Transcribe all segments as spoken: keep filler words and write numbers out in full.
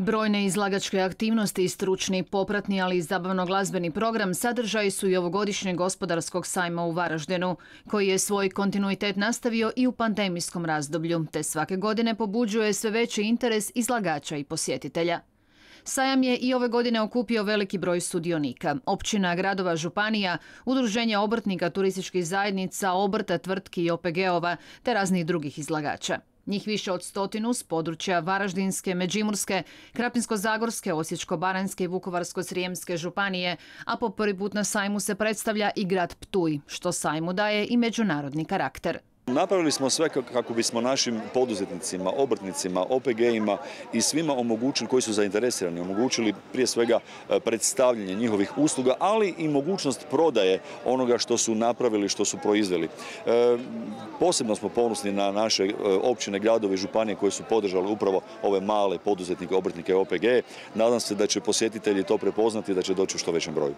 Brojne izlagačke aktivnosti i stručni, popratni, ali i zabavno-glazbeni program sadržaji su i ovogodišnjeg gospodarskog sajma u Varaždinu, koji je svoj kontinuitet nastavio i u pandemijskom razdoblju, te svake godine pobuđuje sve veći interes izlagača i posjetitelja. Sajam je i ove godine okupio veliki broj sudionika, općina, gradova, županija, udruženja obrtnika, turističkih zajednica, obrta, tvrtki i O P G-ova, te raznih drugih izlagača. Njih više od stotinu s područja Varaždinske, Međimurske, Krapinsko-zagorske, Osječko-baranjske i Vukovarsko-srijemske županije, a po prvi put na sajmu se predstavlja i grad Ptuj, što sajmu daje i međunarodni karakter. Napravili smo sve kako bismo našim poduzetnicima, obrtnicima, O P G-ima i svima omogućili, koji su zainteresirani, omogućili prije svega predstavljanje njihovih usluga, ali i mogućnost prodaje onoga što su napravili, što su proizveli. E, posebno smo ponosni na naše općine, gradovi i županije koje su podržali upravo ove male poduzetnike, obrtnike i O P G. Nadam se da će posjetitelji to prepoznati i da će doći u što većem broju.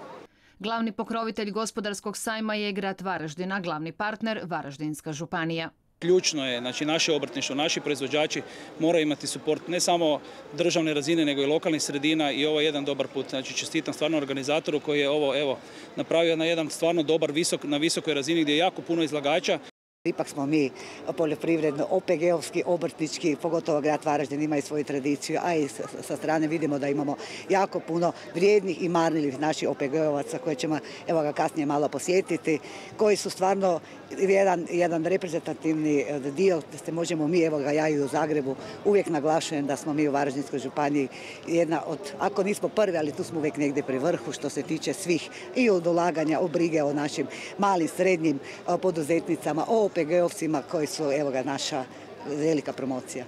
Glavni pokrovitelj gospodarskog sajma je grad Varaždin, a glavni partner Varaždinska županija. Ključno je, znači naše obrtništvo, naši proizvođači moraju imati suport ne samo državne razine, nego i lokalnih sredina i ovo je jedan dobar put. Znači čestitam stvarno organizatoru koji je ovo evo napravio na jedan stvarno dobar, visok, na visokoj razini gdje je jako puno izlagača. Ipak smo mi poljoprivredno, O P G-ovski, obrtnički, pogotovo grad Varaždin ima i svoju tradiciju, a i sa strane vidimo da imamo jako puno vrijednih i marljivih naših O P G-ovaca koje ćemo evo ga kasnije malo posjetiti, koji su stvarno jedan, jedan reprezentativni dio, da se možemo mi, evo ga ja i u Zagrebu, uvijek naglašujem da smo mi u Varaždinskoj županiji jedna od, ako nismo prvi, ali tu smo uvijek negdje pri vrhu što se tiče svih i od ulaganja, o brige o našim malim, srednjim poduzetnicama, o O P G-ovcima koji su, evo ga, naša velika promocija.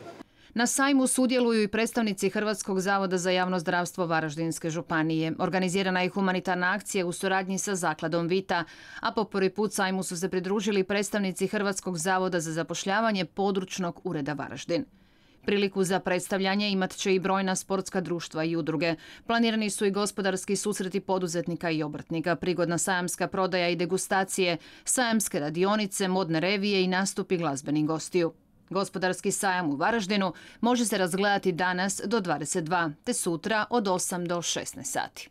Na sajmu sudjeluju i predstavnici Hrvatskog zavoda za javno zdravstvo Varaždinske županije. Organizirana je humanitarna akcija u suradnji sa zakladom Vita, a po prvi put sajmu su se pridružili predstavnici Hrvatskog zavoda za zapošljavanje područnog ureda Varaždin. Priliku za predstavljanje imat će i brojna sportska društva i udruge. Planirani su i gospodarski susreti poduzetnika i obrtnika, prigodna sajamska prodaja i degustacije, sajamske radionice, modne revije i nastupi glazbenih gostiju. Gospodarski sajam u Varaždinu može se razgledati danas do dvadeset dva, te sutra od osam do šesnaest sati.